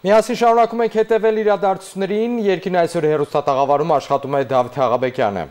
Միասին շարունակում ենք հետևել իրադարձություններին, երկրին այսօր հեռուստատաղավարում աշխատում է Դավիթ Աղաբեկյանը։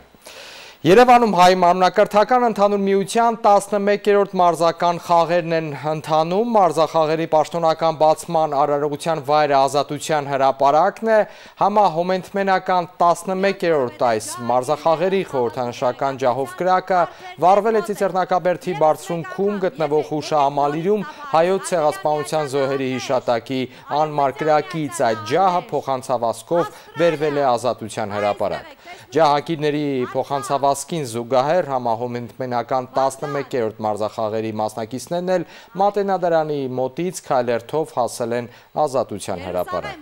Երևանում հայ մարմնակրթական ընդհանուր միության 11-րդ մարզական խաղերն են ընթանում, մարզախաղերի պաշտոնական բացման արարողության վայրը Ազատության հրապարակն է, համահոմենթմենական 11-րդ այս մարզախաղերի խորհրդանշական ջահով կրակը վառվել է Ծիծեռնակաբերդի բարձունքում գտնվող հուշահամալիրում հայոց ցեղասպանության զոհերի հիշատակի անմար կրակից, այդ ջահը փոխանցավազքով բերվել է Ազատության հրապարակ։ Ջահակիրների փոխանցավազքին զուգահեռ համահոմենթմենական 11-րդ մարզախաղերի մասնակիցներն էլ Մատենադարանի մոտից քայլերթով հասել են Ազատության հրապարակ։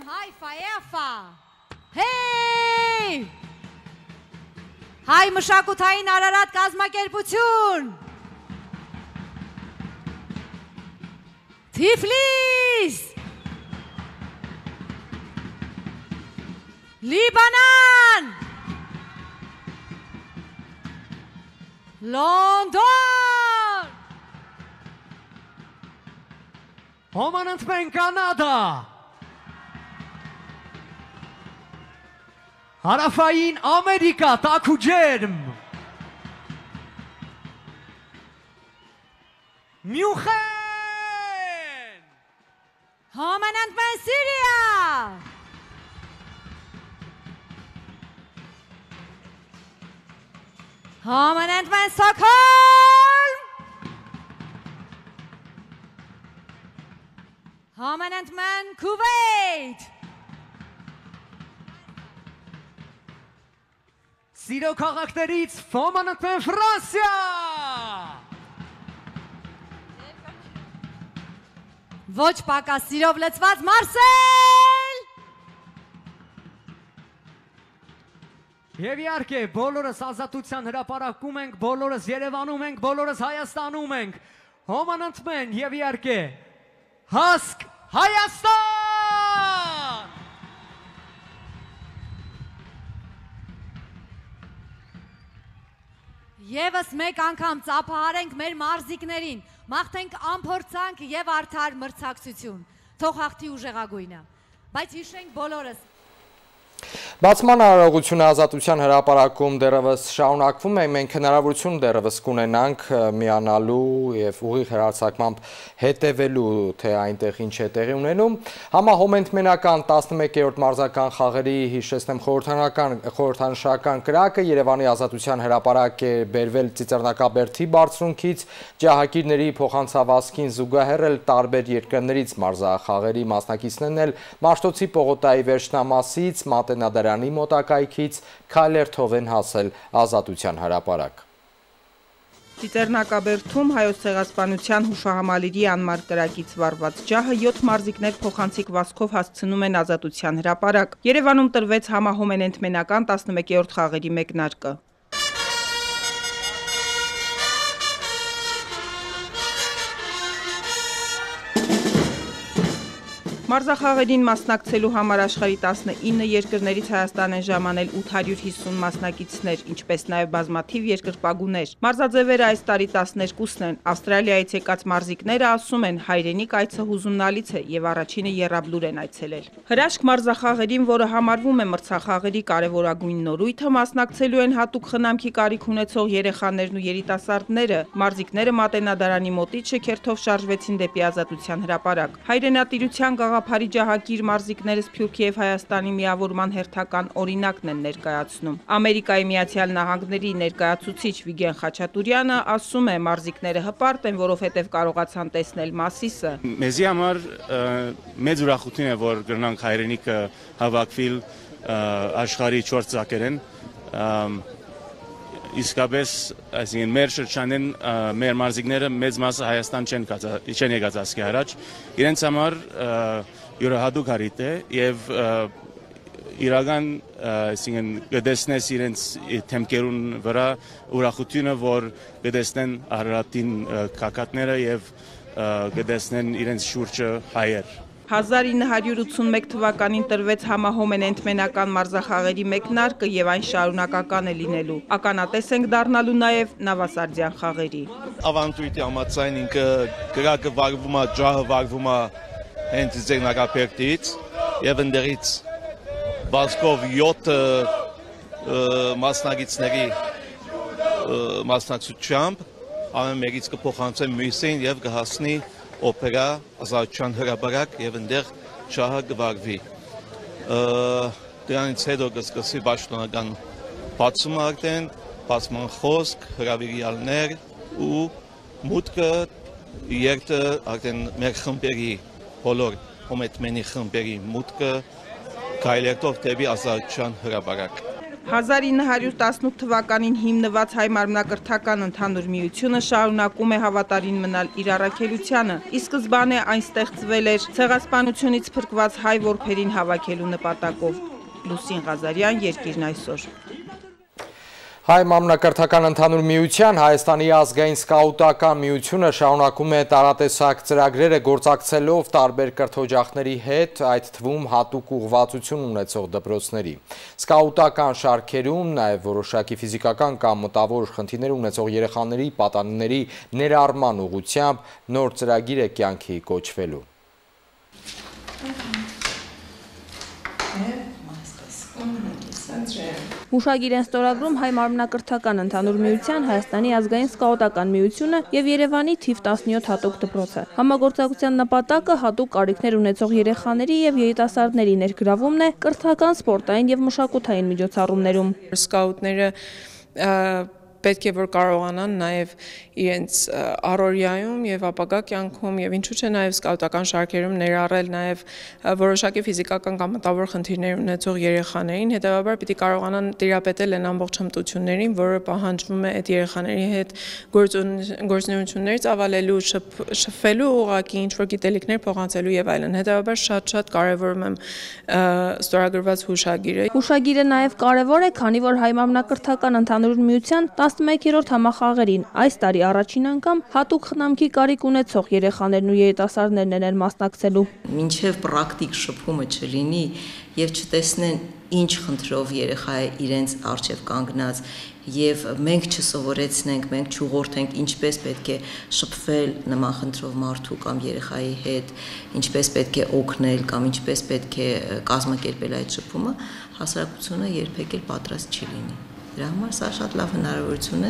Հայ մշակութային Արարատ կազմակերպություն, Թիֆլիս, Լիբանան, Լոնդոն, Հոմանընթմեն Կանադա, Հարավային Ամերիկա, տաք ու ջերմ, Մյունխեն, Հոմանընթմեն Սիրիա, Հոմանընթմեն Ստոկհոլմ, Հոմանընթմեն Քուվեյթ, Սիրո քաղաքներից Հոմանընթմեն Ֆրանսիա, ոչ պակաս սիրով լցված Մարսել, Եվ իհարկե, բոլորս Ազատության հրապարակում ենք, բոլորս Երևանում ենք, բոլորս Հայաստանում ենք, Հոմանընթմեն և իհարկե, հասկ Հայաստան! Եվս մեկ անգամ ծափահարենք մեր մարզիկներին, մաղթենք անփորձանք և արդար մրցակցություն, թող հաղթի ուժեղագույնը, բայց հիշենք բոլորս, Բացման արարողությունը Ազատության հրապարակում դեռևս շարունակվում է, մենք հնարավորություն դեռևս կունենանք միանալու և ուղիղ հեռարձակմամբ հետևելու, թե այնտեղ ինչ է տեղի ունենում։ Համահոմենթմենական 11-րդ մարզական խաղերի հիշեցնեմ խորհրդանշական կրակը Երևանի Ազատության հրապարակ է բերվել Ծիծեռնակաբերդի բարձունքից, ջահակիրների փոխանցավազքին զուգահեռ էլ տարբեր երկրներից մարզախաղերի մասնակիցներն էլ Մաշտոցի պողոտայի վերջնամասից Մատենադարանի մոտակայքից քայլերթով են հասել Ազատության հրապարակ։ Ծիծեռնակաբերդում հայոց ցեղասպանության հուշահամալիրի անմար կրակից վառված ջահը 7 մարզիկներ փոխանցիկ վազքով հասցնում են Ազատության հրապարակ։ Երևանում տրվեց համահոմենթմենական 11-րդ խաղերի մեկնարկը։ Մարզախաղերին մասնակցելու համար աշխարհի 19 երկրներից Հայաստան են ժամանել 850 մասնակիցներ, ինչպես նաև բազմաթիվ երկրպագուներ։ Մարզաձևերը այս տարի 12-ն են։ Ավստրալիայից եկած մարզիկները ասում են, հայրենիք այցը հուզումնալից է եւ առաջինը եռաբլուր են այցելել։ Հրաշք մարզախաղերին, որը համարվում է մրցախաղերի կարևորագույն նորույթը, մասնակցելու են հատուկ խնամքի կարիք ունեցող երեխաներն ու երիտասարդները։ Մարզիկները Մատենադարանի մոտից շքերթով շարժվեցին դեպի Ազատության հրապարակ։ Հայրենատիրության Գաղափարի ջահակիր մարզիկները Սփյուռքի և Հայաստանի միավորման հերթական օրինակն են ներկայացնում։ Ամերիկայի Միացյալ Նահանգների ներկայացուցիչ Վիգեն Խաչատուրյանը ասում է, մարզիկները հպարտ են, որովհետև կարողացան տեսնել Մասիսը։ Մեզի համար մեծ ուրախություն է, որ գնանք հայրենիքը հավաքվել աշխարհի 4 ծակերեն։ Իսկապես, այսինքն մեր շրջանեն մեր մարզիկները մեծ մասը Հայաստան չեն եկած ասկի առաջ, իրենց համար յուրահատուկ հարիթ է եւ իրական այսինքն գտեսնես իրենց թեմքերուն վրա ուրախությունը, որ գտեսնեն Արարատին կակատները եւ գտեսնեն իրենց շուրջը հայեր։ 1981 թվականին տրվեց համահոմենթմենական մարզախաղերի մեկնարկը եւ այն շարունակական է լինելու։ Ականատես ենք դառնալու նաեւ Նավասարդյան խաղերի։ Ավանդույթի համաձայն ինքը կրակը վարվում է, ջահը վարվում է հենց Ծիծեռնակաբերդից եւ ընդերից բասկով 7 մասնագետների մասնակցությամբ ամեն մեկից կփոխանցեն մյուսին եւ կհասնի օպերա ազատության հրապարակ եւ այնտեղ շահը կվարվի։ Դրանից հետո կսկսի պաշտոնական բացումը արդեն, բացման խոսք, հրավիրյալներ ու մուտքը երթը արդեն մեր խմբերի բոլոր հոմետմենի խմբերի մուտքը գայլերտով դեպի ազատության հրապարակ։ 1918 թվականին հիմնված հայ մարմնակրթական ընդհանուր միությունը շարունակում է հավատարիմ մնալ իր առաքելությանը։ Ի սկզբանե այն ստեղծվել էր ցեղասպանությունից փրկված հայ որբերին հավաքելու նպատակով։ Լուսին Ղազարյան, Երկիրն այսօր։ Հայ մարմնակրթական ընդհանուր միության Հայաստանի ազգային սկաուտական միությունը շարունակում է տարատեսակ ծրագրերը գործակցելով տարբեր կրթօջախների հետ, այդ թվում հատուկ ուղղվածություն ունեցող դպրոցների։ Սկաուտական շարքերում նաև որոշակի ֆիզիկական կամ մտավոր խնդիրներ ունեցող երեխաների պատանիների ներառման ուղղությամբ նոր ծրագիր է կյանքի կոչվելու։ Հուշագիր են ստորագրում հայ մարմնակրթական ընդհանուր միության Հայաստանի ազգային սկաուտական միությունը եւ Երևանի թիվ 17 հատուկ դպրոցը։ Համագործակցության նպատակը հատուկ կարիքներ ունեցող երեխաների եւ երիտասարդների ներգրավումն է կրթական, սպորտային եւ մշակութային միջոցառումներում։ Սկաուտները պետք է որ կարողանան նաև իրենց առօրյայում եւ ապագա կյանքում եւ ինչու՞ չէ նաև սկաուտական շարքերում ներառել նաև որոշակի ֆիզիկական կամ մտավոր խնդիրներ ունեցող երեխաներին, հետեւաբար պիտի կարողանան տիրապետել այն ամբողջ հմտություններին, որը պահանջվում է այդ երեխաների հետ գործունեություններ ծավալելու, շփվելու ուղղակի ինչ-որ գիտելիքներ փոխանցելու եւ այլն։ Հետեւաբար շատ կարեւորում եմ ստորագրված հուշագիրը։ Հուշագիրը նաև կարեւոր է, քանի որ հայ մարմնակրթական ընդհանուր միության 11-րդ համախաղերին այս տարի առաջին անգամ հատուկ խնամքի կարիք ունեցող երեխաներն ու երիտասարդներն են մասնակցելու։ Մինչև պրակտիկ շփումը չլինի եւ չտեսնեն ինչ խնդրով երեխա է իրենց առջև կանգնած եւ մենք չսովորեցնենք, մենք չուղղորդենք ինչպես պետք է շփվել նման խնդրով մարդու կամ երեխայի հետ, ինչպես պետք է օգնել կամ ինչպես պետք է կազմակերպել այդ շփումը, հասարակությունը երբեք էլ պատրաստ չի լինի։ Դրա համար սա շատ լավ հնարավորություն է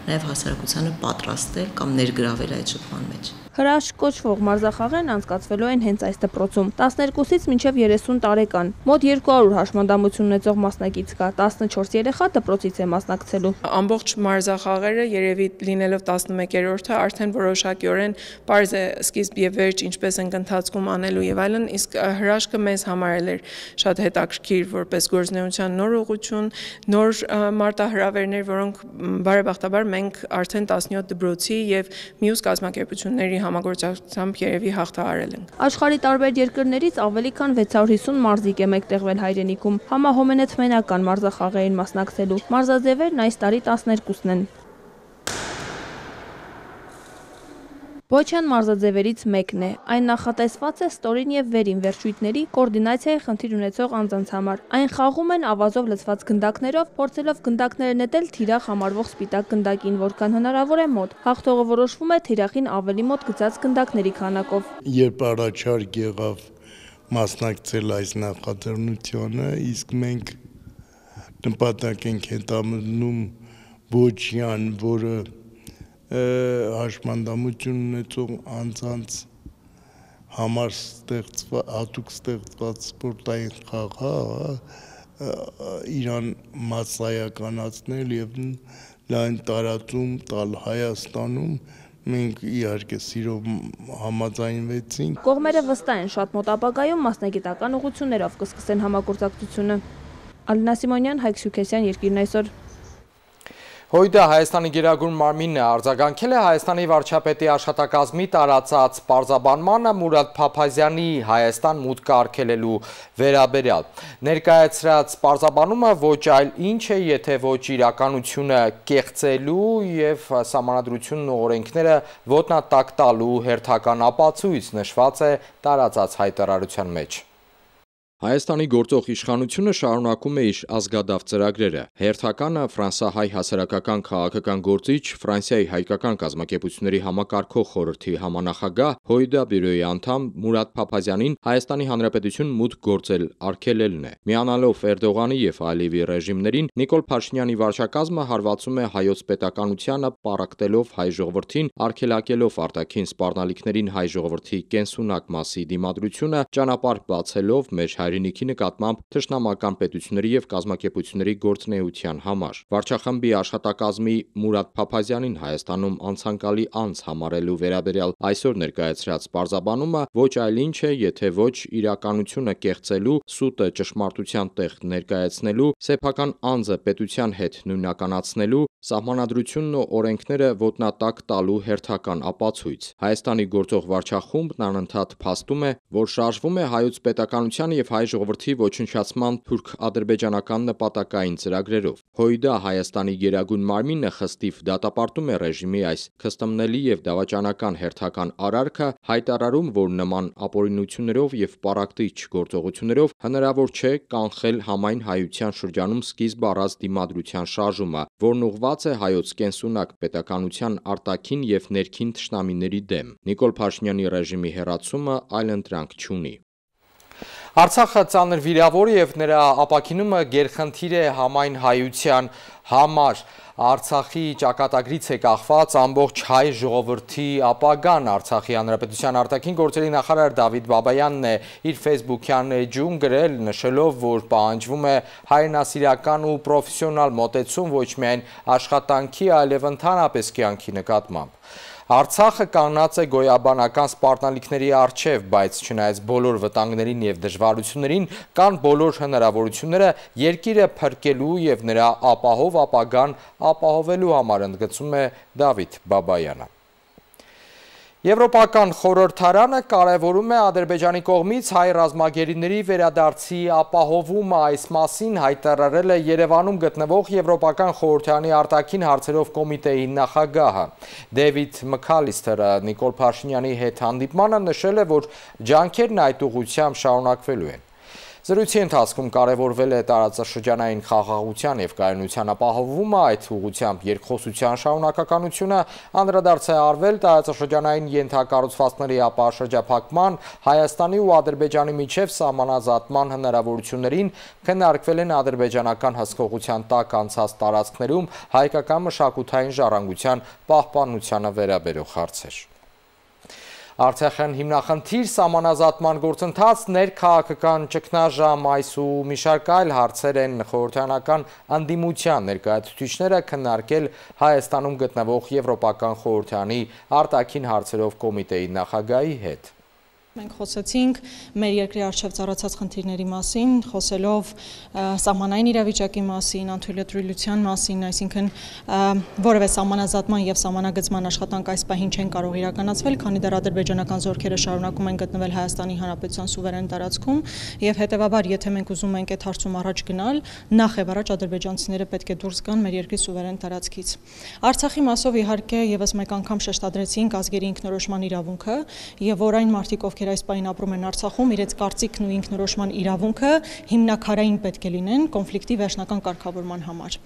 նաև հասարակությանը պատրաստել կամ ներգրավել այդ շփման մեջ։ Հրաշք կոչվող մարզախաղերն անցկացվելու են հենց այս դպրոցում։ 12-ից մինչև 30 տարեկան։ Մոտ 200 հաշմանդամություն ունեցող մասնակից կա, 14 երեխա դպրոցից է մասնակցելու։ Ամբողջ մարզախաղերը երևի լինելով 11-րդը արդեն որոշակիորեն պարզ է սկիզբ եւ վերջ ինչպես ենք ընթացքում անելու եւ այլն, իսկ հրաշքը մեզ համար էր շատ հետաքրքիր որպես գործունեության նոր ուղղություն, նոր մարտահրավերներ, որոնք բարեբախտաբար մենք արդեն 17 դպրոցի եւ մյուս կազմակերպությունների համագործակցությամբ երևի հաղթահարել ենք։ Աշխարհի տարբեր երկրներից ավելի քան 650 մարզիկ է մեկտեղվել հայրենիքում, համահոմենեթմենական մարզախաղերին մասնակցելու։ Մարզաձևերն այս տարի 12-ն են։ Բոչյան մարզաձևերից մեկն է։ Այն նախատեսված է ստորին եւ վերին վերջույթների կոորդինացիայի խնդիր ունեցող անձանց համար։ Այն խաղում են ավազով լցված գնդակներով, փորձելով գնդակները նետել թիրախ համարվող սպիտակ գնդակին, որքան հնարավոր է մոտ։ Հաղթողը որոշվում է թիրախին ավելի մոտ գծած գնդակների քանակով։ Երբ առաջարկ եղավ մասնակցել այս նախաձեռնությանը, իսկ մենք նպատակ ենք հետապնդում Բոչյան, որը հաշմանդամություն ունեցող անձանց համար հատուկ ստեղծված սպորտային խաղ իրան մասսայականացնել եւ լայն տարածում տալ Հայաստանում մենք իհարկե սիրով համաձայնվեցինք։ Կողմերը վստահ են շատ մոտ ապագայում մասնագիտական ուղղություններով կսկսեն համագործակցությունը։ Ալինա Սիմոնյան, Հայկ Սյուքեսյան, Երկիրն այսօր։ Հույդը Հայաստանի գերագույն մարմինն է արձագանքել է Հայաստանի վարչապետի աշխատակազմի տարածած պարզաբանմանը Մուրադ Փափազյանի Հայաստան մուտքը արգելելու վերաբերյալ։ Ներկայացրած պարզաբանումը ոչ այլ ինչ է, եթե ոչ իրականությունը կեղծելու եւ սահմանադրությունն ու օրենքները ոտնատակ տալու հերթական ապացույց նշված է տարածած հայտարարության մեջ։ Հայաստանի գործող իշխանությունը շարունակում է իր ազգադավ ծրագրերը։ Հերթականը ֆրանսահայ հասարակական քաղաքական գործիչ, Ֆրանսիայի հայկական կազմակերպությունների համակարգող խորհրդի համանախագահ Հոյդա բյուրոյի անդամ Մուրադ Փափազյանին Հայաստանի Հանրապետություն մուտք գործել արգելելն է։ Միանալով Էրդողանի եւ Ալիևի ռեժիմներին, Նիկոլ Փաշինյանի վարչակազմը հարվածում է հայոց պետականությանը, պառակտելով հայ ժողովրդին, արգելակելով արտաքին սպառնալիքներին հայ ժողովրդի կենսունակ մասի դիմադրությունը, ճանապարհ բացելով մեր հայրենիքի նկատմամբ թշնամական պետությունների եւ կազմակերպությունների գործունեության համար։ Վարչախմբի աշխատակազմի Մուրադ Փափազյանին Հայաստանում անցանկալի անձ համարելու վերաբերյալ այսօր ներկայացրած պարզաբանումը ոչ այլ ինչ է, եթե ոչ իրականությունը կեղծելու, սուտը ճշմարտության տեղ ներկայացնելու, սեփական անձը պետության հետ նույնականացնելու, սահմանադրությունն ու օրենքները ոտնատակ տալու հերթական ապացույց։ Հայաստանի գործող վարչախումբն անընդհատ փաստում է, որ շարժվում է հայոց պետականության եւ հայ ժողովրդի ոչնչացման թուրք-ադրբեջանական նպատակային ծրագրերով։ Հոյդա Հայաստանի գերագույն մարմինը խստիվ դատապարտում է ռեժիմի այս քստմնելի եւ դավաճանական հերթական արարքը, հայտարարում, որ նման ապօրինություններով եւ պառակտիչ գործողություններով հնարավոր չէ կանխել համայն հայության շրջանում սկիզբ առած դիմադրության շարժումը, որն ուղղված է հայոց կենսունակ պետականության արտաքին եւ ներքին թշնամիների դեմ։ Նիկոլ Փաշինյանի ռեժիմի հեռացումը այլընտրանք չունի։ Արցախը ծանր վիրավոր եւ նրա ապաքինումը գերխնդիր է համայն հայության համար։ Արցախի ճակատագրից է կախված ամբողջ հայ ժողովրդի ապագան։ Արցախի Հանրապետության արտաքին գործերի նախարար Դավիթ Բաբայանն է իր ֆեյսբուքյան էջում գրել, նշելով, որ պահանջվում է հայրենասիրական ու պրոֆեսիոնալ մոտեցում ոչ միայն աշխատանքի, այլև ընդհանրապես կյանքի նկատմամբ։ Արցախը կանգնած է գոյաբանական սպառնալիքների առջև, բայց չնայած բոլոր վտանգներին եւ դժվարություններին, կան բոլոր հնարավորությունները երկիրը փրկելու եւ նրա ապահով ապագան ապահովելու համար, ընդգծում է Դավիթ Բաբայանը։ Եվրոպական խորհրդարանը կարևորում է Ադրբեջանի կողմից հայ ռազմագերիների վերադարձի ապահովումը, այս մասին հայտարարել է Երևանում գտնվող Եվրոպական խորհրդարանի արտաքին հարցերով կոմիտեի նախագահը։ Դեվիդ Մքալիստերը Նիկոլ Փաշինյանի հետ հանդիպմանը նշել է, որ ջանքերն այդ ուղղությամբ շարունակվելու են։ Զրույցի ընթացքում կարևորվել է տարածաշրջանային խաղաղության եւ կայունության ապահովումը, այդ ուղղությամբ երկխոսության շարունակականությունը, անդրադարձ է արվել տարածաշրջանային ենթակառուցվածքների ապաշրջափակման, Հայաստանի ու Ադրբեջանի միջև սահմանազատման հնարավորություններին, քննարկվել են ադրբեջանական հսկողության տակ անցած տարածքներում հայկական մշակութային ժառանգության պահպանությանը վերաբերող հարցեր։ Արցախյան հիմնախնդիր սահմանազատման գործընթաց, ներքաղաքական ճգնաժամ, այս ու մի շարք այլ հարցեր են խորհրդարանական ընդդիմության ներկայացուցիչները քննարկել Հայաստանում գտնվող Եվրոպական խորհրդարանի արտաքին հարցերով կոմիտեի նախագահի հետ։ Մենք խոսեցինք մեր երկրի առջև ծառացած խնդիրների մասին, խոսելով սահմանային իրավիճակի մասին, անթույլատրույլության մասին, այսինքն որևէ սահմանազատման եւ սահմանագծման աշխատանք այս պահին չեն կարող իրականացվել, քանի դեռ ադրբեջանական զորքերը շարունակում են գտնվել Հայաստանի Հանրապետության սուվերեն տարածքում եւ հետեւաբար, եթե մենք ուզում ենք այդ հարցում առաջ գնալ, նախ եւ առաջ ադրբեջանցիները պետք է դուրս գան մեր երկրի սուվերեն տարածքից։ Արցախի մասով իհարկե եւս մեկ անգամ շեշտադրեցինք ազգերի ինքնորոշման իրավունքը եւ որ այն մարդիկ, ովքեր այս պահին ապրում են Արցախում, իրենց կարծիքն ու ինքնորոշման իրավունքը հիմնակարային պետք է լինեն կոնֆլիկտի վերջնական կարգավորման համար։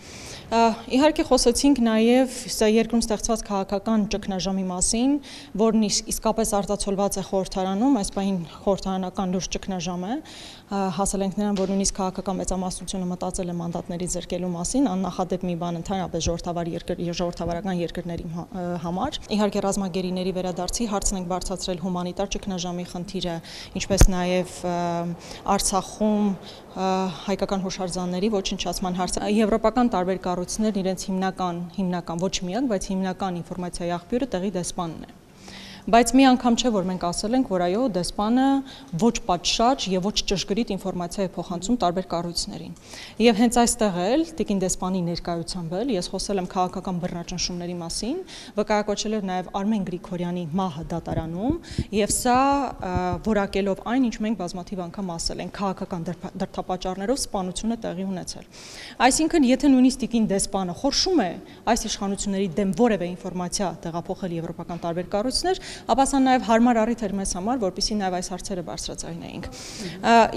Իհարկե խոսեցինք նաև սա երկրում ստեղծված քաղաքական ճգնաժամի մասին, որն իսկապես արտացոլված է խորհրդարանում, այս պահին խորհրդարանական լուրջ ճգնաժամ է, հասել ենք նրան, որ նույնիսկ քաղաքական մեծամասնությունը մտածել է մանդատների զրկելու մասին, աննախադեպ մի բան ընդհանրապես ժողովրդավարական երկրների համար։ Իհարկե ռազմագերիների վերադարձի հարցն ենք բարձրացրել հումանիտար ճգնաժամի խնդիրը, ինչպես նաև Արցախում հայկական հուշարձանների ոչնչացման հարցը։ Եվրոպական տարբեր կառույցներն իրենց հիմնական ոչ միակ, բայց հիմնական ինֆորմացիայի աղբյուրը տեղի դեսպանն է։ Բայց մի անգամ չէ, որ մենք ասել ենք, որ այո, դեսպանը ոչ պատշաճ եւ ոչ ճշգրիտ ինֆորմացիա է փոխանցում տարբեր կառույցներին։ Եվ հենց այստեղ էլ տիկին դեսպանի ներկայությամբ էլ ես խոսել եմ քաղաքական բռնաճնշումների մասին, վկայակոչելով նաեւ Արմեն Գրիգորյանի մահը դատարանում, եւ սա որակելով այն, ինչ մենք բազմաթիվ անգամ ասել ենք, քաղաքական դրդապատճառներով սպանությունը տեղի ունեցել։ Այսինքն, եթե նույնիսկ տիկին դեսպանը խորշում է այս իշխանությունների դեմ որևէ ինֆորմացիա տեղափոխել եվրոպական տարբեր կառույցներ, ապա սա նաև հարմար առիթ էր մեզ համար, որպեսզի նաև այս հարցերը բարձրաձայնեինք։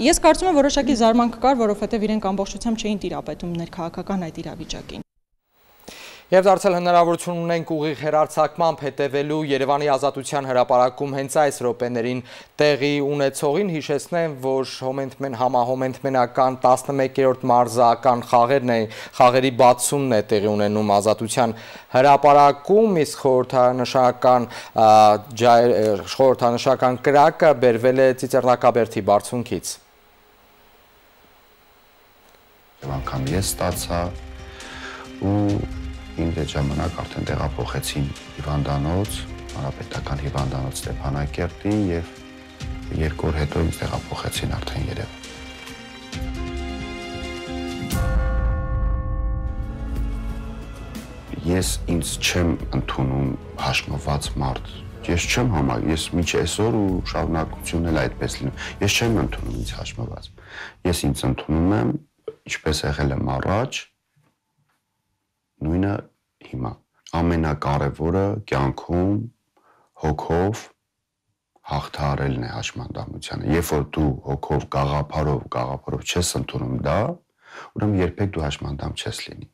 Ես կարծում եմ որոշակի զարմանք կար, որովհետև իրենք ամբողջությամբ չէին տիրապետում ներքաղաքական այդ իրավիճակին։ Եվ դարձել հնարավորություն ունենք ուղիղ հեռարձակմամբ հետևելու Երևանի Ազատության հրապարակում հենց այս րոպեներին տեղի ունեցողին, հիշեցնեմ, որ համահոմենտմենական 11-րդ մարզական խաղերի բացումն է տեղի ունենում Ազատության հրապարակում, իսկ խորհրդանշական կրակը բերվել է Ծիծեռնակաբերդի բարձունքից։ Անգամ ես ստացա ու ինձ այդ ժամանակ արդեն տեղափոխեցին հիվանդանոց, հանրապետական հիվանդանոց Ստեփանակերտի եւ 2 օր հետո ինձ տեղափոխեցին արդեն Երևան։ Ես ինձ չեմ ընդունում հաշմված մարդ։ Ես չեմ ես միջ այսօր ու շարունակությունն էլ այդպես լինում։ Ես չեմ ընդունում ինձ հաշմված։ Ես ինձ ընդունում եմ, ինչպես եղել եմ առաջ, նույնը հիմա ամենակարևորը կյանքում հոգով հաղթահարելն է հաշմանդամությանը։ Երբ որ դու հոգով գաղափարով չես ընդունում դա, ուրեմն երբեք դու հաշմանդամ չես լինի։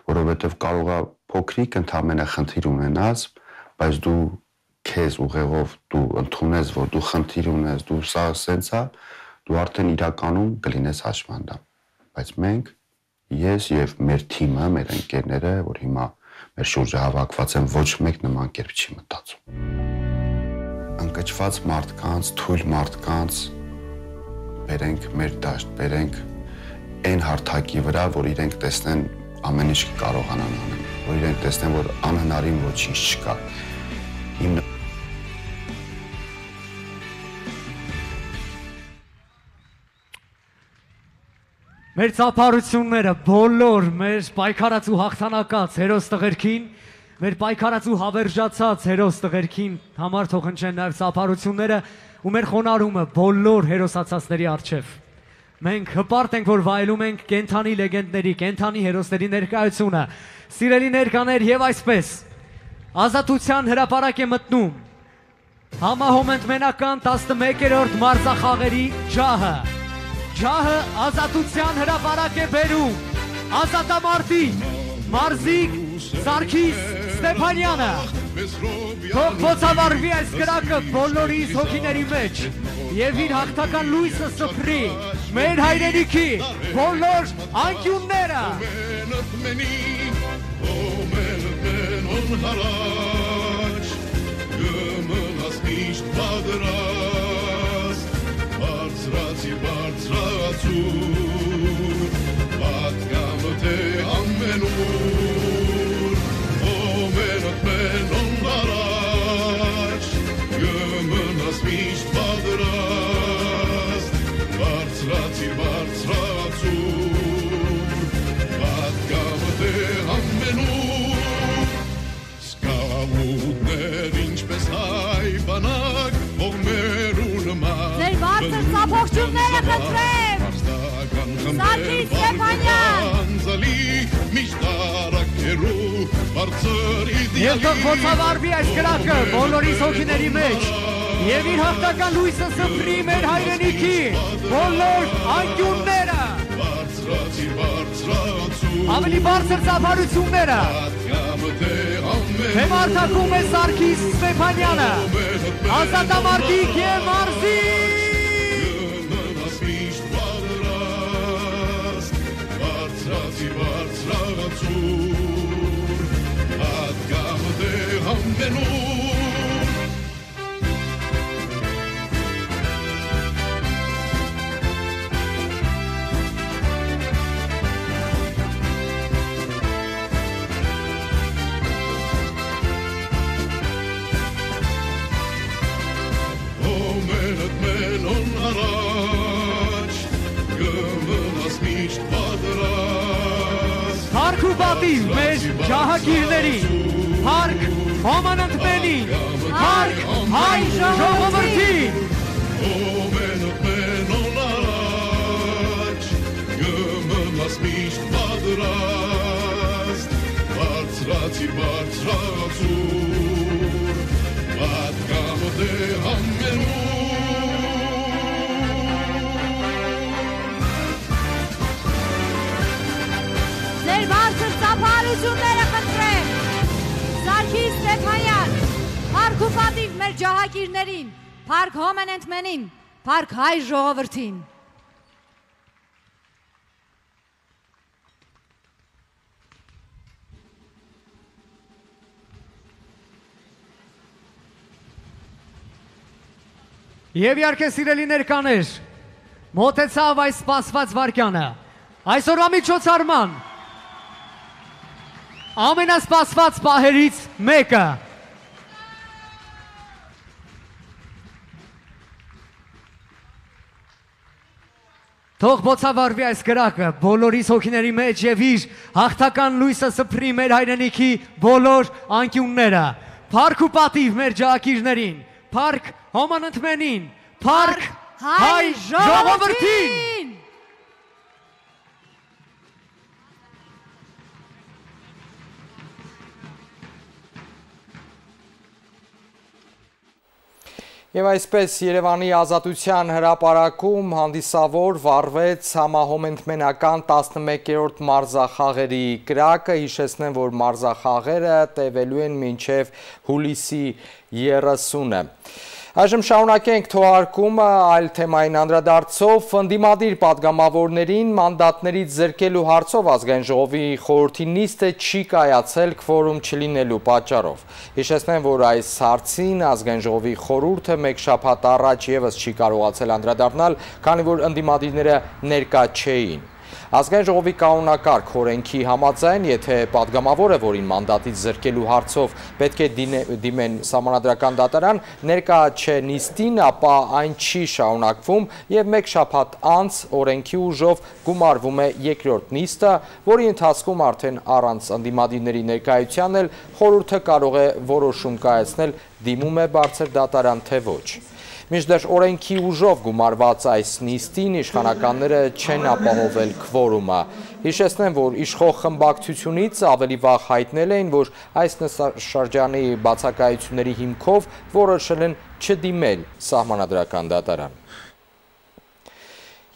Որովհետև կարող է փոքրիկ ընդամենը խնդիր ունենաս, բայց դու քեզ ուղեղով դու ընդունես, որ դու խնդիր ունես, դու սա սենց է, դու արդեն իրականում կլինես հաշմանդամ։ Բայց մենք ես եւ մեր թիմը, մեր ընկերները, որ հիմա մեր շուրջը հավաքված են, ոչ մեկ նման կերպ չի մտածում։ Ընկճված մարդկանց, թույլ մարդկանց բերենք մեր դաշտ, բերենք այն հարթակի վրա, որ իրենք տեսնեն ամեն ինչ կարողանան անել, որ իրենք տեսնեն, որ անհնարին ոչինչ չկա։ Մեր ծափարությունները բոլոր մեր պայքարած ու հաղթանակած հերոս տղերքին, մեր պայքարած ու հավերժացած հերոս տղերքին համար թող հնչեն նաև ծափարությունները ու մեր խոնարհումը բոլոր հերոսացածների առջև։ Մենք հպարտ ենք, որ վայելում ենք կենթանի լեգենդների, կենթանի հերոսների ներկայությունը։ Սիրելի ներկաներ, եւ այսպես Ազատության հրապարակ է մտնում համահոմենտմենական 11-րդ մարզախաղերի ջահը։ Ջահը Ազատության հրապարակ է բերում ազատամարտի Մարզիկ Սարգիս Ստեփանյանը։ Թող ոցավառվի այս կրակը բոլորիս հոգիների մեջ եւ իր հաղթական լույսը սփռի մեր հայրենիքի բոլոր անկյունները։ Ողջունները խնդրեմ Սարգիս Ստեփանյան Եվ թող ոցավառվի այս կրակը բոլորիս հոգիների մեջ եւ իր հաղթական լույսը սփռի մեր հայրենիքի բոլոր անկյունները ավելի բարձր ծափարությունները Հեմարթակում է Սարգիս Ստեփանյանը ազատամարտիկ եւ մարզիկ Հարկ ու պատիվ մեր ջահագիրների, հարկ հոմանընդմենին, հարկ հայ ժողովրդին։ Ձեր բարձր ծափահարությունները խնդրեմ, Սարգիս Ստեփանյան, փառք ու պատիվ մեր ջահակիրներին, փառք հոմենենթմենին, փառք հայ ժողովրդին։ Եվ իհարկե սիրելի ներկաներ, մոտեցավ այս սպասված վարկյանը, այսօրվա միջոցառման ամենասպասված պահերից մեկը։ Թող բոցավարվի այս գրակը բոլորիս հոգիների մեջ եւ իր հաղթական լույսը սփռի մեր հայրենիքի բոլոր անկյունները։ Փառք ու պատիվ մեր ջահակիրներին, փառք հոմանընթմենին, փառք հայ ժողովրդին։ Եվ այսպես Երևանի ազատության հրապարակում հանդիսավոր վարվեց համահոմենթմենական 11-րդ մարզախաղերի կրակը, հիշեցնեմ, որ մարզախաղերը տևելու են մինչև հուլիսի 30-ը։ Այժմ շարունակենք թողարկումը այլ թեմային անդրադարձով, ընդդիմադիր պատգամավորներին մանդատներից զրկելու հարցով ազգային ժողովի խորհրդի նիստը չի կայացել քվորում չլինելու պատճառով։ Հիշեցնեմ, որ այս հարցին ազգային ժողովի խորհուրդը մեկ շաբաթ առաջ ևս չի կարողացել անդրադառնալ, քանի որ ընդդիմադիրները ներկա չէին։ Ազգային ժողովի կանոնակարգ օրենքի համաձայն, եթե պատգամավորը, որին մանդատից զրկելու հարցով պետք է դիմեն սահմանադրական դատարան, ներկա չէ նիստին, ապա այն չի շարունակվում եւ մեկ շաբաթ անց օրենքի ուժով գումարվում է երկրորդ նիստը, որի ընթացքում արդեն առանց ընդդիմադիրների ներկայության էլ խորհուրդը կարող է որոշում կայացնել դիմում է բարձր դատարան թե ոչ։ Մինչդեռ օրենքի ուժով գումարված այս նիստին իշխանականները չեն ապահովել քվորումը։ Հիշեցնեմ, որ իշխող խմբակցությունից ավելի վաղ հայտնել էին, որ այս նստաշրջանի բացակայությունների հիմքով որոշել են չդիմել սահմանադրական դատարան։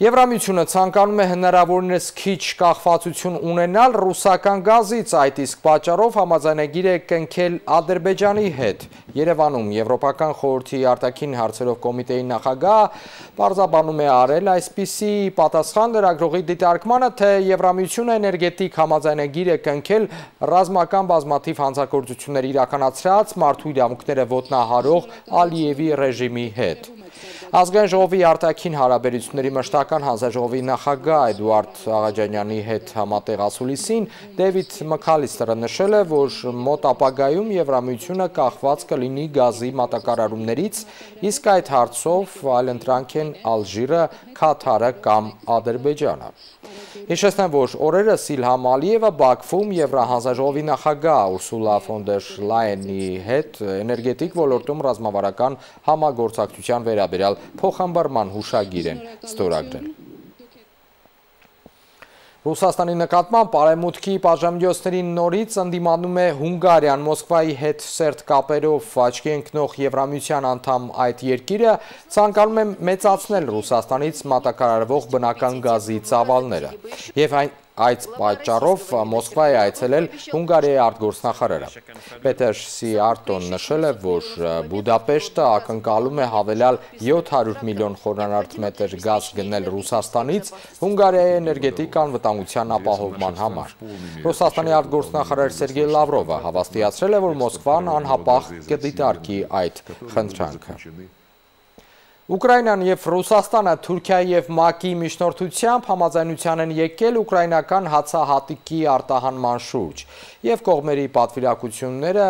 Եվրամիությունը ցանկանում է հնարավորինս քիչ կախվածություն ունենալ ռուսական գազից, այդ իսկ պատճառով համաձայնագիր է կնքել Ադրբեջանի հետ։ Երևանում Եվրոպական խորհրդի արտաքին հարցերով կոմիտեի նախագահ պարզաբանում է արել այսպիսի պատասխան լրագրողի դիտարկմանը, թե Եվրամիությունը էներգետիկ համաձայնագիր է կնքել ռազմական բազմաթիվ հանցագործություններ իրականացրած մարդու իրավունքները ոտնահարող Ալիևի ռեժիմի հետ։ Ազգային ժողովի արտաքին հարաբերությունների մշտական հանձնաժողովի նախագահ Էդուարդ Աղաջանյանի հետ համատեղ ասուլիսին Դեվիդ Մքալիստերը նշել է, որ մոտ ապագայում Եվրամիությունը կախված կլինի գազի մատակարարումներից, իսկ այդ հարցով այլընտրանք են Ալժիրը, Քաթարը կամ Ադրբեջանը։ Հիշեցնեմ, որ օրերս Իլհամ Ալիևը Բաքվում Եվրահանձնաժողովի նախագահ Ուրսուլա ֆոն դեր Լայենի հետ էներգետիկ ոլորտում ռազմավարական համագործակցության վերաբերյալ փոխհմբռնման հուշագիր են ստորագրել։ Ռուսաստանի նկատմամբ արևմուտքի պատժամիջոցների նորից ընդդիմանում է Հունգարիան, Մոսկվայի հետ սերտ կապերով աչքի ընկնող Եվրամիության անդամ այդ երկիրը ցանկանում է մեծացնել Ռուսաստանից մատակարարվող բնական գազի ծավալները եւ այդ պատճառով Մոսկվա է այցելել Հունգարիայի արտգործնախարարը։ Պետեր Սիարտոն նշել է, որ Բուդապեշտը ակնկալում է հավելյալ 700 միլիոն խորանարդ մետր գազ գնել Ռուսաստանից Հունգարիայի էներգետիկ անվտանգության ապահովման համար։ Ռուսաստանի արտգործնախարար Սերգեյ Լավրովը հավաստիացրել է, որ Մոսկվան անհապաղ կդիտարկի այդ խնդրանքը։ Ուկրաինան և Ռուսաստանը Թուրքիայի և ՄԱԿ-ի միջնորդությամբ համաձայնության են եկել ուկրաինական հացահատիկի արտահանման շուրջ և կողմերի պատվիրակությունները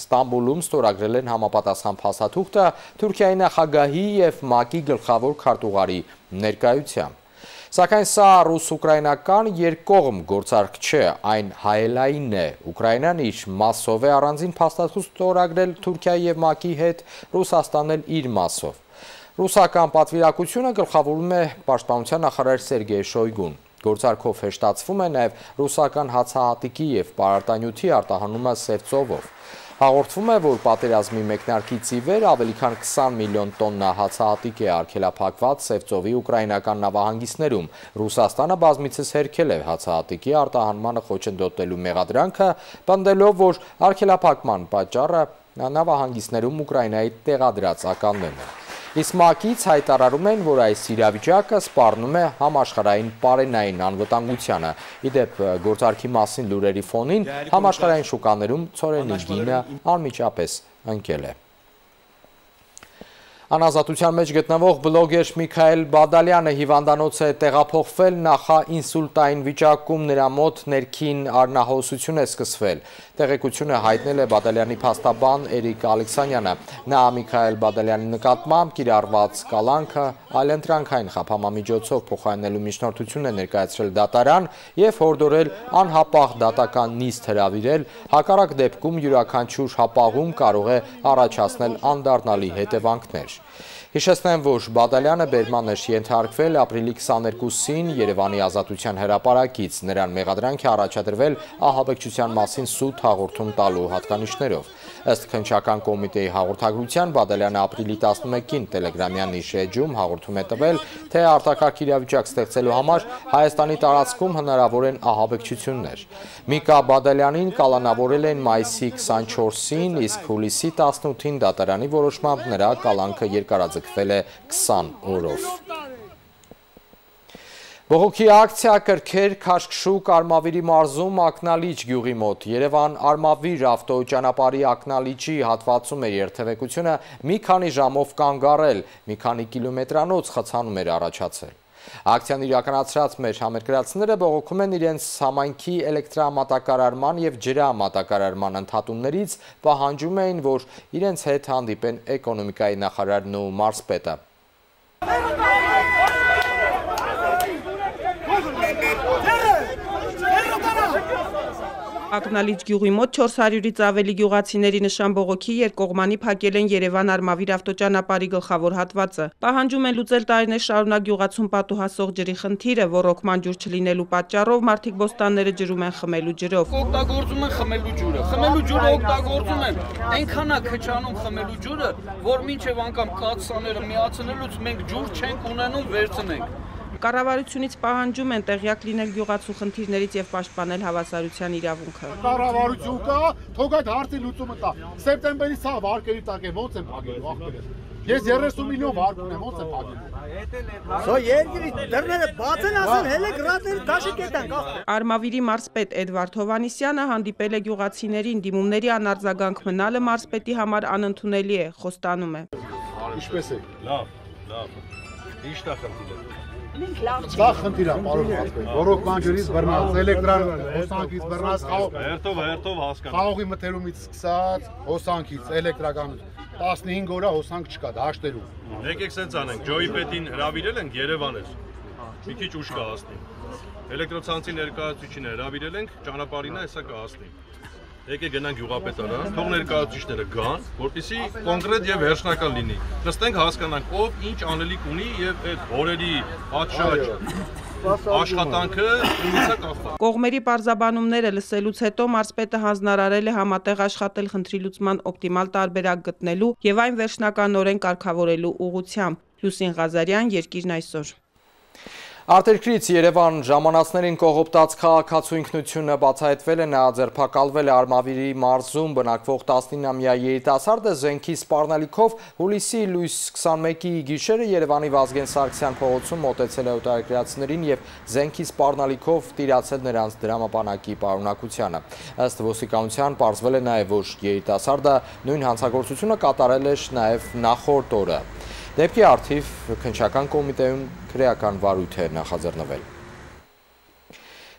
Ստամբուլում ստորագրել են համապատասխան փաստաթուղթը Թուրքիայի նախագահի և ՄԱԿ-ի գլխավոր քարտուղարի ներկայությամբ։ Սակայն սա ռուս-ուկրաինական երկկողմ գործարք չէ, այն հայելային է։ Ուկրաինան իր մասով է առանձին փաստաթուղթ ստորագրել Թուրքիայի և ՄԱԿ-ի հետ, Ռուսաստանն էլ իր մասով։ Ռուսական պատվիրակությունը գլխավորում է պաշտպանության նախարար Սերգեյ Շոյգուն։ Գործարքով հեշտացվում է նաև ռուսական հացահատիկի և պարարտանյութի արտահանումը սև ծովով։ Հաղորդվում է, որ պատերազմի մեկնարկից ի վեր ավելի քան 20 միլիոն տոննա հացահատիկ է արգելափակված Սևծովի ուկրաինական նավահանգիստներում։ Ռուսաստանը բազմիցս հերքել է հացահատիկի արտահանմանը խոչընդոտելու մեղադրանքը, պնդելով, որ արգելափակման պատճառը նավահանգիստներում Ուկրաինայի տեղադրած ականներն են։ Իսկ ՄԱԿ-ից հայտարարում են, որ այս իրավիճակը սպառնում է համաշխարհային պարենային անվտանգությանը։ Իդեպ գործարքի մասին լուրերի ֆոնին համաշխարհային շուկաներում ցորենի գինը անմիջապես ընկել է։ Անազատության մեջ գտնվող բլոգեր Միքայել Բադալյանը հիվանդանոց է տեղափոխվել, նախաինսուլտային վիճակում նրա մոտ ներքին արնահոսություն է սկսվել։ Տեղեկությունը հայտնել է Բադալյանի փաստաբան Էրիկ Ալեքսանյանը։ Նա Միքայել Բադալյանի նկատմամբ կիրառված կալանքը այլընտրանքային խափամամիջոցով փոխարինելու միջնորդություն է ներկայացրել դատարան եւ հորդորել անհապաղ դատական նիստ հրավիրել, հակառակ դեպքում յուրաքանչյուր հապաղում կարող է առաջացնել անդառնալի հետևանքներ։ Հիշեցնեմ, որ Բադալյանը բերման էր ենթարկվել ապրիլի 22-ին Երևանի Ազատության հրապարակից, նրան մեղադրանք է առաջադրվել ահաբեկչության մասին սուտ հաղորդում տալու հատկանիշներով։ Ըստ քննչական կոմիտեի հաղորդագրության Բադալյանը ապրիլի 11-ին Տելեգրամյան իր էջում հաղորդում է տվել, թե արտակարգ իրավիճակ ստեղծելու համար Հայաստանի տարածքում հնարավոր են ահաբեկչություններ։ Միկա Բադալյանին կալանավորել են մայիսի 24-ին, իսկ հուլիսի 18-ին դատարանի որոշմամբ նրա կալանքը երկարաձգվել է 20 օրով։ Բողոքի ակցիա կրքեր Քաշքշուկ Արմավիրի մարզում Ակնալիճ գյուղի մոտ։ Երևան Արմավիր ավտոճանապարհի Ակնալիճի հատվածում էր երթևեկությունը մի քանի ժամով կանգ առել, մի քանի կիլոմետրանոց խցանում էր առաջացել։ Ակցիան իրականացրած մեր համերկրացիները բողոքում են իրենց համայնքի էլեկտրամատակարարման եւ ջրամատակարարման ընդհատումներից, պահանջում էին, որ իրենց հետ հանդիպեն էկոնոմիկայի նախարարն ու մարզպետը։ Ակնալիճ գյուղի մոտ 400-ից ավելի գյուղացիների նշան բողոքի երկկողմանի փակել են Երևան Արմավիր ավտոճանապարհի գլխավոր հատվածը։ Պահանջում են լուծել տարիներ շարունակ գյուղացուն պատուհասող ջրի խնդիրը, ռոռոկման ջուր չլինելու պատճառով մարդիկ բոստանները ջրում են խմելու ջրով։ Օգտագործում են խմելու ջուրը։ Խմելու ջուրը օգտագործում են այնքան է քչանում խմելու ջուրը, որ մինչև անգամ կաթսաները միացնելուց մենք ջուր չենք ունենում վերցնենք։ Կառավարությունից պահանջում են տեղյակ լինել գյուղացու խնդիրներից եւ պաշտպանել հավասարության իրավունքը։ Կառավարություն կա, թող այդ հարցի լուծումը տա։ Սեպտեմբերի սա վարկերի տակ է, ո՞նց են փակելու ախպերս։ Ես 30 միլիոն վարկ ունեմ, ո՞նց են փակելու։ Սա երկրի դռները բաց են ասել, հələ գրատների դաշի կետանք ախպեր։ Արմավիրի մարզպետ Էդվարդ Հովհաննիսյանը հանդիպել է գյուղացիներին, դիմումների անարձագանք մնալը մարզպետի համար անընդունելի է, խոստանում է։ Ինչպես է։ Լավ։ Ինչ է խնդիրը։ Սա խնդիր է, պարոն մարզպետ։ Ռոռոկման ջրից բռնած, էլեկտրան հոսանքից բռնած, հերթով հասկանում։ Խաղողի մթերումից սկսած, հոսանքից, էլեկտրական 15 օր հոսանք չկա, դաշտերում։ Եկեք սենց անենք, Ջոյի պետին հրավիրել ենք Երևան էր։ Մի քիչ ուշ կհասնի։ Էլեկտրոցանցի ներկայացուցիչին հրավիրել ենք, ճանապարհին է հեսա կհասնի։ Եկեք գնանք գյուղապետարան, թող ներկայացուցիչները գան, որպեսզի կոնկրետ եւ վերջնական լինի։ Նստենք հասկանանք ով ինչ անելիք ունի եւ այդ օրերի պատշաճ աշխատանքը ումից է կախված։ Կողմերի պարզաբանումները լսելուց հետո մարզպետը հանձնարարել է համատեղ աշխատել խնդրի լուծման օպտիմալ տարբերակ գտնելու եւ այն վերջնականորեն կարգավորելու ուղղությամբ։ Լուսին Ղազարյան, Երկիրն այսօր։ Արտերկրից Երևան ժամանածներին կողոպտած քաղաքացու ինքնությունը բացահայտվել է, նա ձերբակալվել է Արմավիրի մարզում բնակվող 19-ամյա երիտասարդը զենքի սպառնալիքով հուլիսի լույս 21-ի գիշերը Երևանի Վազգեն Սարգսյան փողոցում մոտեցել է օտարերկրացիներին եւ զենքի սպառնալիքով տիրացել նրանց դրամապանակի պարունակությանը։ Ըստ ոստիկանության պարզվել է նաեւ, որ երիտասարդը նույն հանցագործությունը կատարել էր նաեւ նախորդ օրը։ Դեպքի առթիվ քննչական կոմիտեում քրեական վարույթ է նախաձեռնվել։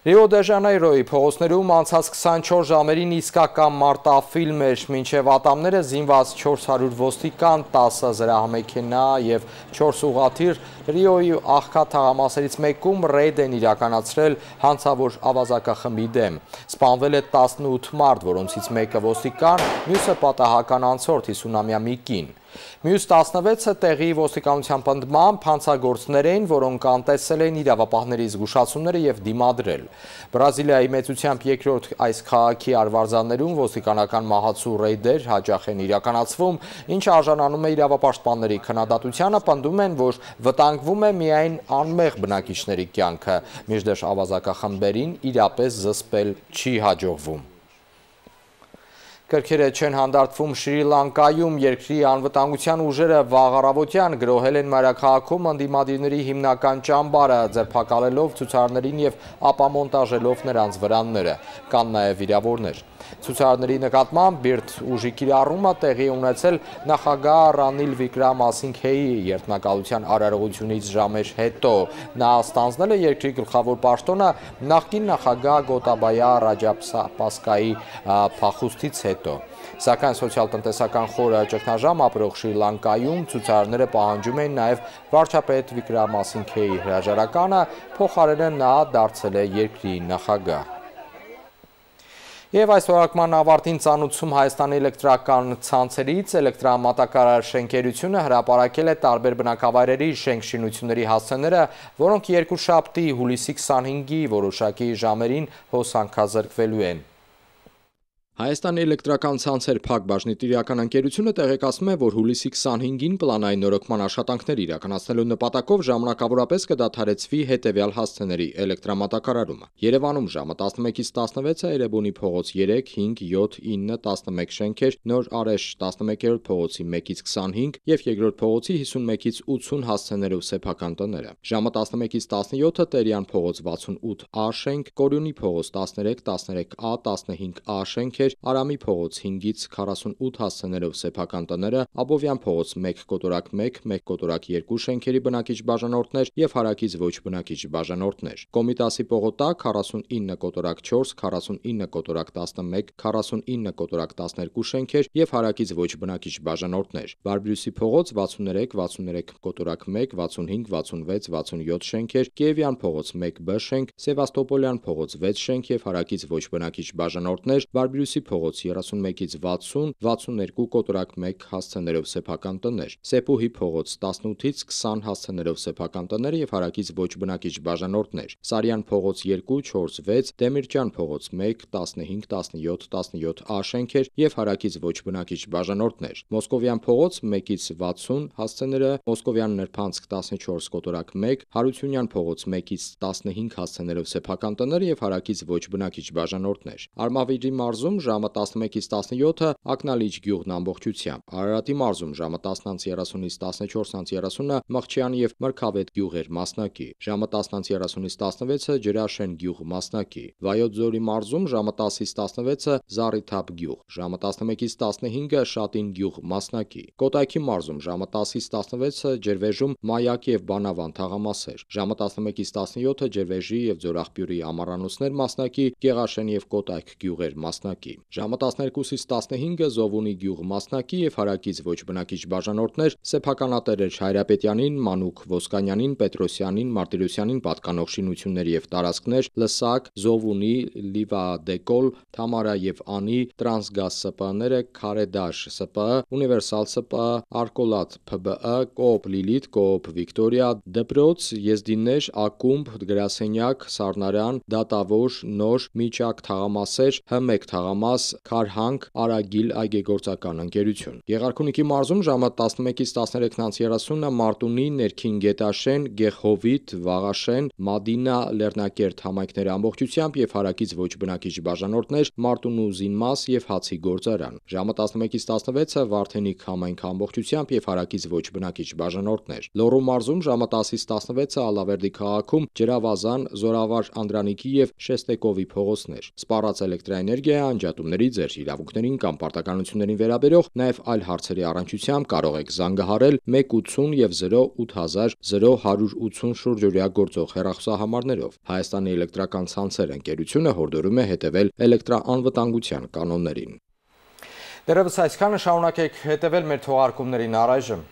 Ռիո դե Ժանեյրոյի փողոցներում անցած 24 ժամերին իսկական մարտաֆիլմ էր, մինչև ատամները զինված 400 ոստիկան, 10 զրահամեքենա եւ 4 ուղղաթիռ Ռիոյի աղքատ թաղամասերից մեկում ռեյդ են իրականացրել հանցավոր ավազակախմբի դեմ։ Սպանվել է 18 մարդ, որոնցից մեկը ոստիկան, մյուսը պատահական անցորդ 50-ամյա մի կին։ Մյուս 16-ը տեղի ոստիկանության պնդմամբ հանցագործներ էին, որոնք անտեսել էին իրավապահների զգուշացումները և դիմադրել։ Բրազիլիայի մեծությամբ երկրորդ այս քաղաքի արվարձաններում ոստիկանական մահացու ռեյդեր հաճախ են իրականացվում, ինչը արժանանում է իրավապաշտպանների քննադատությանը, պնդում են, որ վտանգվում է միայն անմեղ բնակիչների կյանքը, մինչդեռ ավազակախմբերին իրապես զսպել չի հաջողվում։ Կրքերը չեն հանդարտվում Շրի Լանկայում, երկրի անվտանգության ուժերը վաղ առավոտյան գրոհել են մայրաքաղաքում ընդդիմադիրների հիմնական ճամբարը, ձերբակալելով ցուցարարներին և ապամոնտաժելով նրանց վրանները, կան նաև վիրավորներ։ Ցուցարարների նկատմամբ բիրտ ուժի կիրառումը տեղի ունեցել նախագահ Ռանիլ Վիկրամասինգհեի երդմնակալության արարողությունից ժամեր հետո։ Նա ստանձնել է երկրի գլխավոր պաշտոնը նախկին նախագահ Գոտաբայա Ռաջապքսեի փախուստից հետո։ Սակայն սոցիալ-տնտեսական խորը ճգնաժամ ապրող Շրի Լանկայում ցուցարարները պահանջում են նաև վարչապետ Վիկրամասինգհեի հրաժարականը, փոխարենը նա դարձել է երկրի նախագահ։ Եվ այս թողարկման ավարտին ծանոթում Հայաստանի էլեկտրական ցանցերից էլեկտրամատակարար շենքերությունը հրապարակել է տարբեր բնակավայրերի շենքշինությունների հասցեները, որոնք երկուշաբթի հուլիսի 25-ի որոշակի ժամերին հոսանքազրկվելու են։ Հայաստանի էլեկտրական ցանցեր ՓԱԿ բաժնետիրական ընկերությունը տեղեկացնում է, որ հուլիսի 25-ին պլանային նորոգման աշխատանքներ իրականացնելու նպատակով ժամանակավորապես կդադարեցվի հետևյալ հասցեների էլեկտրամատակարարումը։ Երևանում ժամը 11-ից 16-ը Էրեբունի փողոց 3, 5, 7, 9, 11 շենքեր, Նոր Արեշ 11-րդ փողոցի 1-ից 25 եւ երկրորդ փողոցի 51-ից 80 հասցեներով սեփական տները։ Ժամը 11-ից 17-ը Տերյան փողոց 68A շենք, Կորյունի փողոց 13, 13A, 15A շենք, Արամի փողոց 5-ից 48 հասցեներով սեփական տները, Աբովյան փողոց 1 կոտորակ 1, 1 կոտորակ 2 շենքերի բնակիչ բաժանորդներ եւ հարակից ոչ բնակիչ բաժանորդներ։ Կոմիտասի պողոտակ 49 կոտորակ 4, 49 կոտորակ 11, 49 կոտորակ 12 շենքեր եւ հարակից ոչ բնակիչ բաժանորդներ։ Բարբրյուսի փողոց 63, 63 կոտորակ 1, 65, 66, 67 շենքեր, Կիևյան փողոց 1B շենք, Սևաստոպոլյան փողոց 6 շենք եւ հարակից ոչ բնակիչ բաժանորդներ, Բարբրյուսի փողոց 31-ից 60, 62 կոտորակ 1 հասցեներով սեփական տներ, Սեպուհի փողոց 18-ից 20 հասցեներով սեփական տներ եւ հարակից ոչ բնակիչ բաժանորդներ, Սարյան փողոց 2, 4, 6, Դեմիրճյան փողոց 1, 15, 17, 17A շենքեր եւ հարակից ոչ բնակիչ բաժանորդներ, Մոսկովյան փողոց 1-ից 60 հասցեները, Մոսկովյան Նրբանցք 14 կոտորակ 1, Հարությունյան փողոց 1-ից 15 հասցեներով սեփական տներ եւ հարակից ոչ բնակիչ բաժանորդներ, Արմավիրի մարզում ժամը 11-ից 17-ը Ակնալիջ գյուղն ամբողջությամբ, Արարատի մարզում ժամը 10-30-ից 14-30-ը Մղչյան եւ Մրգավետ գյուղեր մասնակի, ժամը 10-30-ից 16-ը Ջրաշեն գյուղ մասնակի, Վայոց ձորի մարզում ժամը 10-ից 16-ը Զառիթափ գյուղ, ժամը 11-ից 15-ը Շատին գյուղ մասնակի, Կոտայքի մարզում ժամը 10-ից 16-ը Ջրվեժում Մայակ եւ Բանավան թաղամասեր, ժամը 11-ից 17-ը Ջրվեժի եւ Ձորախբյուրի ամառանոցներ մասնակի, Գեղաշեն եւ Կոտայք գյուղեր մասնակի, ժամը 12-ից 15-ը Զովունի գյուղ մասնակի եւ հարակից ոչ բնակիչ բաժանորդներ սեփականատերեր Հայրապետյանին, Մանուկ Ոսկանյանին, Պետրոսյանին, Մարտիրոսյանին պատկանող շինություններ եւ տարածքներ, Լսակ, Զովունի, Լիվադեկոլ, Թամարա եւ Անի, Տրանսգազ ՍՊԸ-ները, Քարեդաշ ՍՊԸ, Ունիվերսալ ՍՊԸ, Արկոլատ ՓԲԸ, Կոոպ Լիլիթ, Կոոպ Վիկտորիա, Դպրոց, Եզդիններ, Ակումբ, Գրասենյակ, Սառնարան, Դատավոր, Նոր, Միջակ թաղամասեր, Հ1 թաղամաս, Քարհանք, Արագիլ այգեգործական ընկերություն։ Եղարքունիքի մարզում ժամը 11-ից 13:30-ը Մարտունի, Ներքին Գետաշեն, Գեղհովիտ, Վաղաշեն, Մադինա, Լեռնակերտ համայնքների ամբողջությամբ եւ հարակից ոչ բնակիչ բաժանորդներ Մարտունու Զինմաս եւ Հացի գործարան։ Ժամը 11-ից 16-ը Վարդենիկ համայնք ամբողջությամբ եւ հարակից ոչ բնակիչ բաժանորդներ։ Լոռու մարզում ժամը 10-ից 16-ը Ալավերդի քաղաքում Ջրավազան, Զորավար Անդրանիկի եւ Շեստեկովի փողոցներ։ Սպառած էլեկտրաէներգիա անջատումների, ձեր իրավունքներին կամ պարտականություններին վերաբերող նաև այլ հարցերի առնչությամբ կարող եք զանգահարել 180 եւ 08000 0180 շուրջօրյա գործող հեռախոսահամարներով։ Հայաստանի էլեկտրական ցանցեր ընկերությունը հորդորում է հետևել էլեկտրաանվտանգության կանոններին։ Դեռևս այսքանը, շարունակեք հետևել մեր թողարկումներին առայժմ։